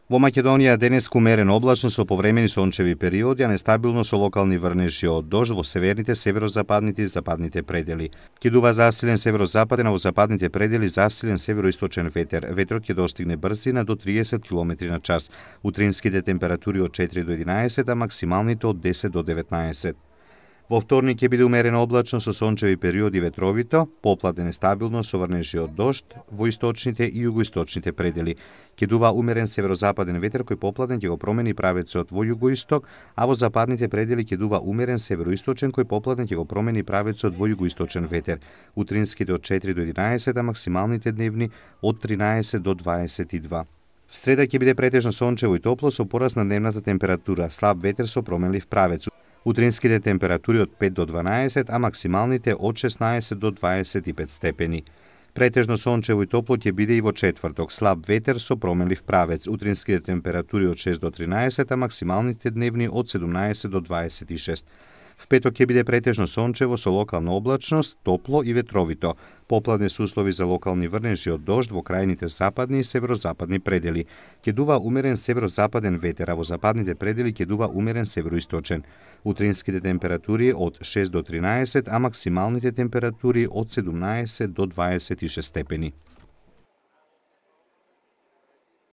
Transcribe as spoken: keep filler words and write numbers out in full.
Во Македонија денеска умерено облачно со повремени сончеви периоди, а нестабилно со локални врнежи од дожд во северните, северозападните и западните предели. Ќе дува засилен северозападен, а во западните предели засилен североисточен ветер. Ветрот ќе достигне брзина до триесет километри на час. Утринските температури од четири до единаесет, а максималните од десет до деветнаесет. Во вторник ќе биде умерено облачно со сончеви периоди ветровито, попладне нестабилно со врнежи од дожд во источните и југоисточните предели. Ќе дува умерен северозападен ветер кој попладне ќе го промени правецот во југоисток, а во западните предели ќе дува умерен североисточен кој попладне ќе го промени правецот во југоисточен ветер. Утринските од четири до единаесет, а максималните дневни од тринаесет до дваесет и два. В среда ќе биде претежно сончево и топло со пораст на дневната температура, слаб ветер со променлив правец. Утринските температури од пет до дванаесет, а максималните од шеснаесет до дваесет и пет степени. Претежно сончево и топло ќе биде и во четврток, слаб ветер со променлив правец. Утринските температури од шест до тринаесет, а максималните дневни од седумнаесет до дваесет и шест. В петок ќе биде претежно сончево со локална облачност, топло и ветровито. Попладне се услови за локални врнежи од дожд во крајните западни и северозападни предели. Ќе дува умерен северозападен ветер, а во западните предели ќе дува умерен североисточен. Утринските температури од шест до тринаесет, а максималните температури од седумнаесет до дваесет и шест степени.